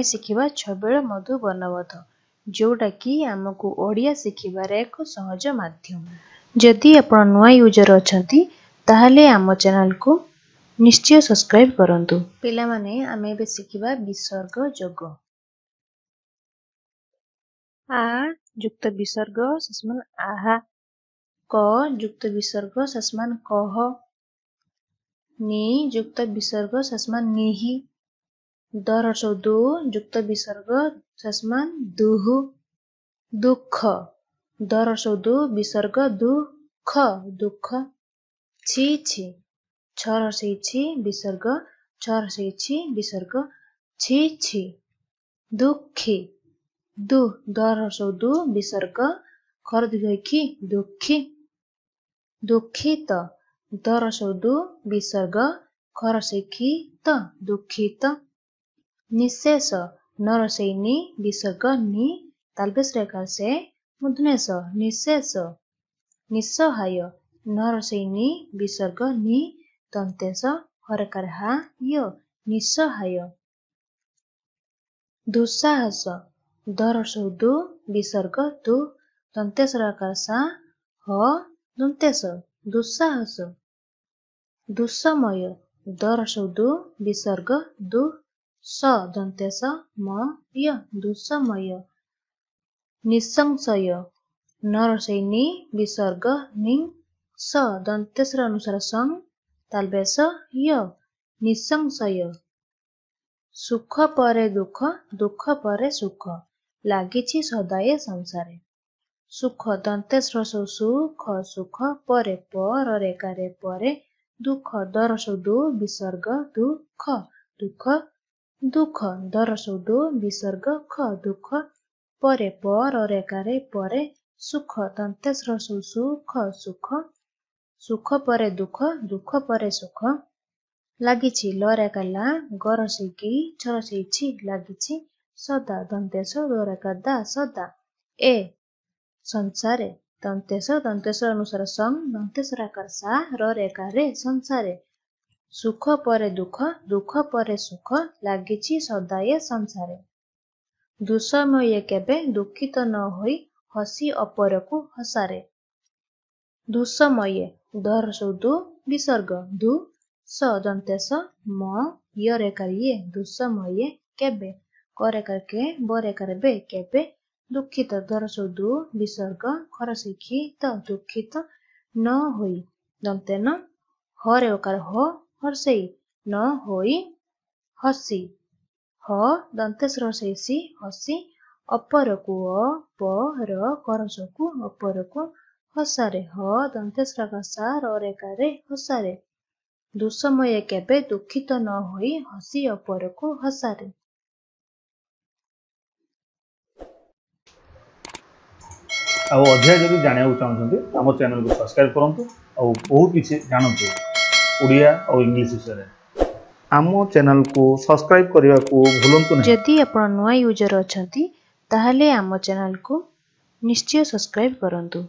ଆମେ ଶିଖିବା ଛବିଳ ମଧୁ ବର୍ଣ୍ଣବୋଧ, ଯେଉଁଟାକି ଆମକୁ ଓଡ଼ିଆ ଶିଖିବାରେ ଏକ ସହଜ ମାଧ୍ୟମ। ଯଦି ଆପଣ ନୂଆ ୟୁଜର୍ ଅଛନ୍ତି, ତାହେଲେ ଆମ ଚ୍ୟାନେଲକୁ ନିଶ୍ଚୟ ସବସ୍କ୍ରାଇବ୍ କରନ୍ତୁ। ପିଲାମାନେ, ଆମେ ଏବେ ଶିଖିବା ବିସର୍ଗ ଯୋଗ। ଆ ଯୁକ୍ତ ବିସର୍ଗ ସମାନ ଆହା, କ ଯୁକ୍ତ ବିସର୍ଗ ସମାନ କହ, ନି ଯୁକ୍ତ ବିସର୍ଗ ସମାନ ନିହି, ଦ ହ୍ରସ୍ୱ ଦୁ ଯୁକ୍ତ ବିସର୍ଗ ସମାନ ଦୁହୁ, ଦୁଃଖ, ଦ ହ୍ରସ୍ୱ ଦୁ ବିସର୍ଗ ଦୁଃଖ ଦୁଃଖ, ଛି ଛି, ଛ ହ୍ରସ୍ୱ ଛି ବିସର୍ଗ, ଛ ହ୍ରସ୍ୱ ଛି ବିସର୍ଗ, ଛି ଛି, ଦୁଃଖୀ, ଦୁ, ଦ ହ୍ରସ୍ୱ ଦୁ ବିସର୍ଗ, ଖ ଦୀର୍ଘ ଖି, ଦୁଃଖୀ, ଦୁଃଖିତ, ଦ ହ୍ରସ୍ୱ ଦୁ ବିସର୍ଗ, ଖ ହ୍ରସ୍ୱ ଖି ତ, ଦୁଃଖିତ, ନିଶେଷ, ନ ହ୍ରସ୍ୱ ନି ବିସର୍ଗ ନି, ତାଲବେଶ ରେଖା ସେ ମୂର୍ଦ୍ଧନ୍ୟ ନିଶେଷ, ନିଃସହାୟ, ନ ହ୍ରସ୍ୱ ନି ବିସର୍ଗ ନି, ଦନ୍ତେଶ ହରକାର ହା ୟ, ନିଃସହାୟ, ଦୁଃସାହସ, ଦ ହ୍ରସ୍ୱ ଦୁ ବିସର୍ଗ ଦୁ, ଦନ୍ତେଶ ରକାର ସା ହ ଦନ୍ତେଶ, ଦୁଃସାହସ, ଦୁଃସମୟ, ଦ ହ୍ରସ୍ୱ ଦୁ ବିସର୍ଗ ଦୁ, ସ ଦନ୍ତେଶ ମ ୟ, ଦୁଃସମୟ, ନିଃସଂଶୟ, ନ ହ୍ରସ୍ୱ ନି ବିସର୍ଗ ନି, ସ ଦନ୍ତେଶର ଅନୁସାର ସଂ ତାଲବେଶ ୟ, ନିଃସଂଶୟ। ସୁଖ ପରେ ଦୁଃଖ, ଦୁଃଖ ପରେ ସୁଖ, ଲାଗିଛି ସଦା ଏ ସଂସାରେ। ସୁଖ, ଦନ୍ତେଶ ହ୍ରସ୍ୱ ସୁ ଖ ସୁଖ, ପରେ ପ ର ରେଖାରେ ପରେ, ଦୁଃଖ, ଦ ହ୍ରସ୍ୱ ଦୁ ବିସର୍ଗ ଦୁଃଖ ଦୁଃଖ, ଦୁଃଖ, ଦ ହ୍ରସ୍ୱ ଦୁ ବିସର୍ଗ ଖ ଦୁଃଖ, ପରେ ପ ର ରେଖାରେ ପରେ, ସୁଖ, ଦନ୍ତେଶ ହ୍ରସ୍ୱ ସୁ ଖ ସୁଖ, ସୁଖ ପରେ ଦୁଃଖ, ଦୁଃଖ ପରେ ସୁଖ, ଲାଗିଛି, ଲ ରେଖା ଲା, ଗ ହ୍ରସ୍ୱ ଗି, ଛ ହ୍ରସ୍ୱ ଛି, ଲାଗିଛି, ସଦା, ଦନ୍ତେଶ ଦ ରେଖା ଦା ସଦା, ଏ ସଂସାରେ, ଦନ୍ତେଶ ଦନ୍ତେଶ ଅନୁସାର ସଂ, ଦନ୍ତେଶ ଆକାର ସା ର ରେଖା ରେ, ସଂସାରେ। ସୁଖ ପରେ ଦୁଃଖ, ଦୁଃଖ ପରେ ସୁଖ, ଲାଗିଛି ସଦା ଏ ସଂସାରେ। ଦୁଃସମୟେ କେବେ ଦୁଃଖିତ ନ ହୋଇ ହସି ଅପରକୁ ହସାରେ। ଦୁଃସମୟେ, ଦ ହ୍ରସ୍ୱ ଦୁ ବିସର୍ଗ ଦୁ, ସ ଦନ୍ତେଶ ମ ୟ ରେଖା ୟେ, ଦୁଃସମୟେ କେବେ, କ ରେଖା କେ ବ ରେଖା ବେ, କେବେ, ଦୁଃଖିତ, ଦ ହ୍ରସ୍ୱ ଦୁ ବିସର୍ଗ ଖ ହ୍ରସ୍ୱ ଖି ତ, ଦୁଃଖିତ, ନ ହୋଇ, ଦନ୍ତେନ ହ ରେ ଓକାର ହୋ ହର୍ଷେଇ, ନ ହୋଇ ହସି, ହ ଦନ୍ତେଶ ହ୍ରସ୍ୱ ସି ହସି, ଅପରକୁ ଅ ପ ର କ ହ୍ରସ୍ୱ କୁ ଅପରକୁ ହସାରେ, ହ ଦନ୍ତେଶ ସା ର ରେଖା ରେ, ହସାରେ। ଦୁଃସମୟେ କେବେ ଦୁଃଖିତ ନ ହୋଇ ହସି ଅପରକୁ ହସାରେ। ଆଉ ଅଧିକା ଯଦି ଜାଣିବାକୁ ଚାହୁଁଛନ୍ତି, ଆମ ଚ୍ୟାନେଲକୁ ସବସ୍କ୍ରାଇବ୍ କରନ୍ତୁ ଆଉ ବହୁତ କିଛି ଜାଣନ୍ତୁ ଓଡ଼ିଆ ଆଉ ଇଂଲିଶ ବିଷୟରେ। ଆମ ଚ୍ୟାନେଲକୁ ସବସ୍କ୍ରାଇବ୍ କରିବାକୁ ଭୁଲନ୍ତୁ ନାହିଁ। ଯଦି ଆପଣ ନୂଆ ୟୁଜର୍ ଅଛନ୍ତି, ତାହେଲେ ଆମ ଚ୍ୟାନେଲକୁ ନିଶ୍ଚୟ ସବସ୍କ୍ରାଇବ୍ କରନ୍ତୁ।